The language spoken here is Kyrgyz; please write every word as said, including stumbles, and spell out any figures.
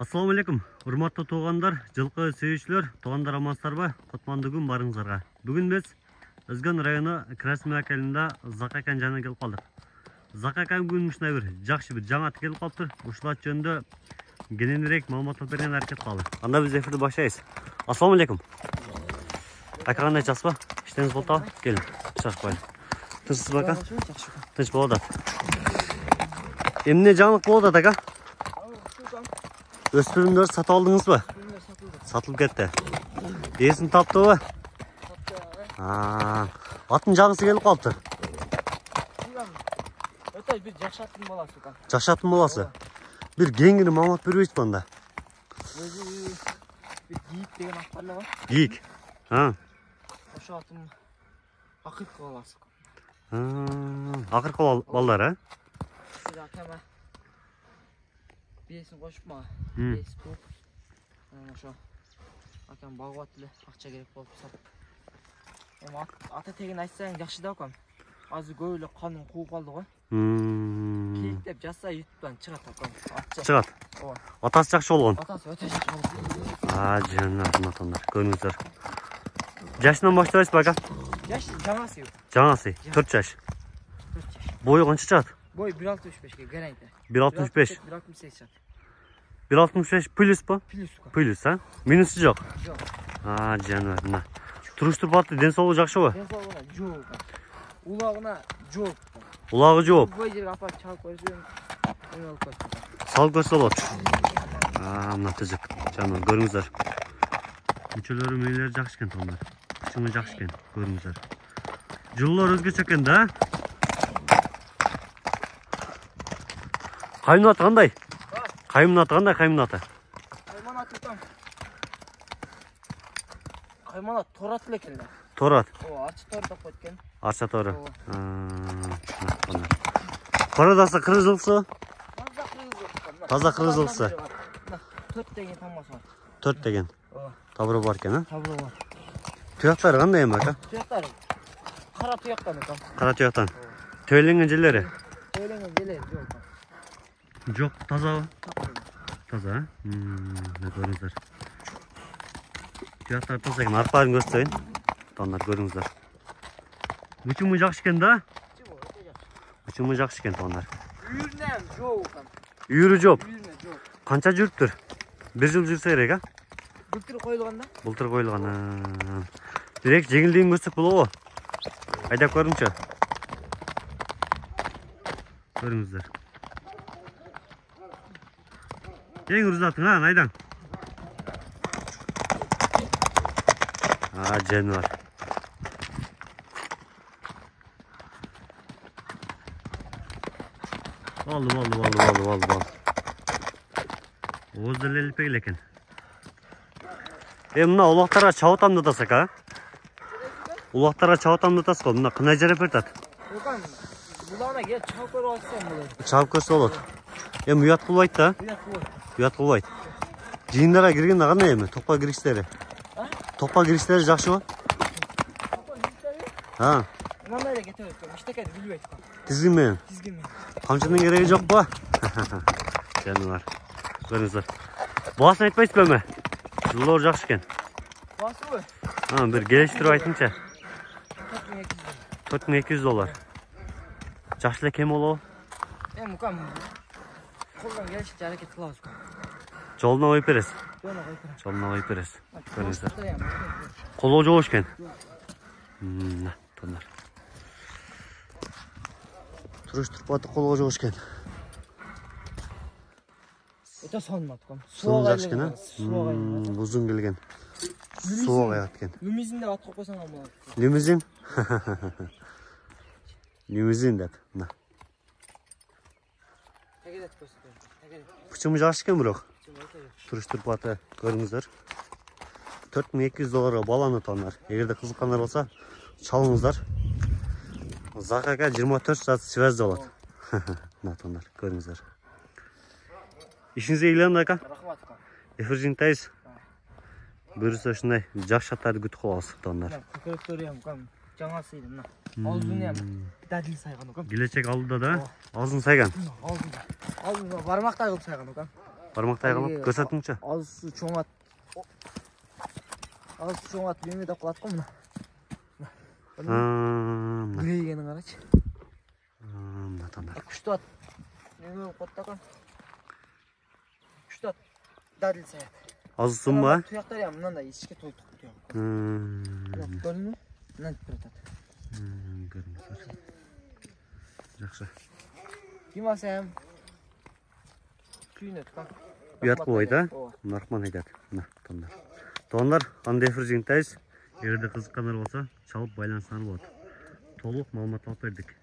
Assalamu alaikum. Урматтуу туугандар, жылкы сүйүүчүлөр, туугандар амансыздарбы? Кутмандуу күн барыңыздарга. Бүгүн биз Өзгөн району Краснояр айылында Закакан жана келип калдык. Закакан бүгүн ушундай бир жакшы бир жаңаты келип калыптыр. Ушулар жөнүндө кененирээк маалымат берген аракет кылалы. Анда биз эфирди баштайбыз. Assalamu alaikum. Ака кандай жаспа? Иштеңиз болуп атабы? Келин. Чакпайлы. Тынчсызбы ака? Тынч болот атат. Эмне жаңылык болот атат ака? Өспүрүмдөр сатып алдыңызбы? Сатылып кетти. Эсин таптыбы? Аа, атын жаңысы келип калыптыр. Өтө бир жакшаттын баласы экен. Жакшаттын баласы. Бир кеңири маалымат бербейсизби анда? Өзү бир Гийик деген ат бар эле. Гийик. А. Ошо атын акыркы баласы. Аа, акыркы балдар, а? Сиз акама бесин кошуп мага. Бес туп. Ошо акам багып эле, акча керек болуп сатып. Эми ата тегин айтсаң жакшы да акам. Азыр көп эле канын кууп калды го. Кейик деп жазса ютубтан чыгат акам. Чыгат. Ооба. Атасы жакшы болгон. Атасы өтө жакшы болгон. Аа, жанат атандар. Көрүңүздөр. Жашынан баштайсызбы ака? Жаш жаңасы. Жаңасы, төрт жаш. төрт жаш. Бою канча чыгат? Бой бир алтымыш бешке гарантия. бир алтымыш беш. бир алтымыш сегиз чыгат. бир алтымыш беш плюс по? Плюс. Плюс, а? Минусу жок. Жок. Аа, жанат, мына. Туруш-турпаты ден соолугу жакшыбы? Ден соолугуна жок. Улагына жок. Улагы жооп. Бой жерге апарып чалып койсоң, эме болуп калат. Салып көрсө болот. Аа, мына тизик. Жана көрүңүздөр. Мүчөлөрү мээлери жакшы экен тондар. Чыңы жакшы экен, көрүңүздөр. Жылуулар өзгөчө экен да. Каймын аты кандай? Каймын аты кандай, каймын аты? Кайман аты там. Кайман аты Торат эле экен да. Торат. Ооба, ачы тор деп койт экен. Арча тору. Коrodасы кыргыз жылкысы? Таза кыргыз жылкысы. Таза кыргыз жылкысы. төрт деген тамасы бар. төрт деген. Ооба. Табыры бар экен, а? Табыры бар. Туяктары кандай эми ака? Туяктары кара туяктан экен. Кара туяктан. Төйленген жерлери? Төйленген жерлери жок. Жок, тазабы? Таза, а? Мына көрүңүздөр. Туяктары таза экен, аркаларын көрсөтөйүн. Тондар көрүңүздөр. Учуму жакшы экен да? Учуму жакшы экен тондар. Үйүрүнөн жок экен. Үйүрү жоп. Үйүрүнө жок. Канча жүрүптүр? Бир жыл жүрсө керек, а? Былтыр коюлган да? Былтыр коюлган. Бирек жеңилдигин көрсөк болобу? Айдап көрүңчү. Көрүңүздөр. Эң ырзатың, а, айдан. А, жаныбар. Болду, болду, болду, болду, болду, болду. Ооз деле илпек эле экен. Э, мына улактарга чабып атам деп атасыз ака? Улактарга чабып атам деп атасыз го, мына кынай жарап берет. Окан, булана келип чабып көрүп атсаң болот. Чабып көрсө болот. Эми уят кылбайт да? Уят кылбайт. Уят кылбайт. Жыйындарга киргенде кандай эми? Токко киришleri? А? Токко киришleri жакшыбы? Токко киришleri? А. Мындай эле кете берет. Иштекени билбейт. Тизгин менен. Тизгин менен. Камчынын кереги жокпу? Жаныбар. Көрүңүздөр. Баасын айтпайсызбы эми? Жылуулар жакшы экен. Баасыбы? А, бир келиштирип айтыңчы. төрт миң эки жүз доллар. төрт миң эки жүз доллар. Жакшы эле кем болобу? Эми кам колдон келишинче аракет кылабыз. Жолуна коюп бересиз. Жолуна коюп берем. Жолуна коюп бересиз. Көрүңүздөр. Көрүңүздөр. Колоо жок экен. Мына, тондар. Туруш-турпаты колго жок экен. Өтө сонмат кам. Суун жакшы экен, а? Узун келген. Сууга аят экен. Лимузин деп ат коюп койсоң болот. Лимузин? Лимузин деп. Мына. Тегерет көрсөтөм. Тегерет. Пучуму жакшы экен бирок. Туруш-турпаты көрүңүздөр. төрт миң эки жүз долларга баланы тондар. Эгерде кызыккандар болсо, чалыңыздар. Закака жыйырма төрт саат связь болот. Мына тондар, көрүңүздөр. Ишиңизге ыйланды ака. Рахмат ака. Эфиржиңтайбыз. Буюрса ушундай жакшы аттарды күтүп калабыз тондар. Көкөрөктөрү эм кам жаңасы эле мына. Алдын эм дадил сайган укам. Келечек алдыда да? Алдын сайган. Алдын. Алдын бармактай кылып сайган укам. бармактай кылып көрсөтүңчү. Азысы чоңат. Азысы чоңат эме деп калат го мына. Мына. Грейгени карачы. Мына тондар. Күчтүү ат. Эме болуп калат да. Күчтүү ат. Дадил саят. Азысың ба? Туяктар я мындай ичке тойтук туяк. Көрдүңбү? Мындан турат. Көрүнүп. Жакшы. Кимасам. Күйнөт как? Уят болбойт, а? Наркман айтат. Мына тондар. Тондар кандай эфир жыйынтайбыз. Эгерде кызыккандар болсо, чалып байланышсаңар болот. Толук маалымат алып бердик.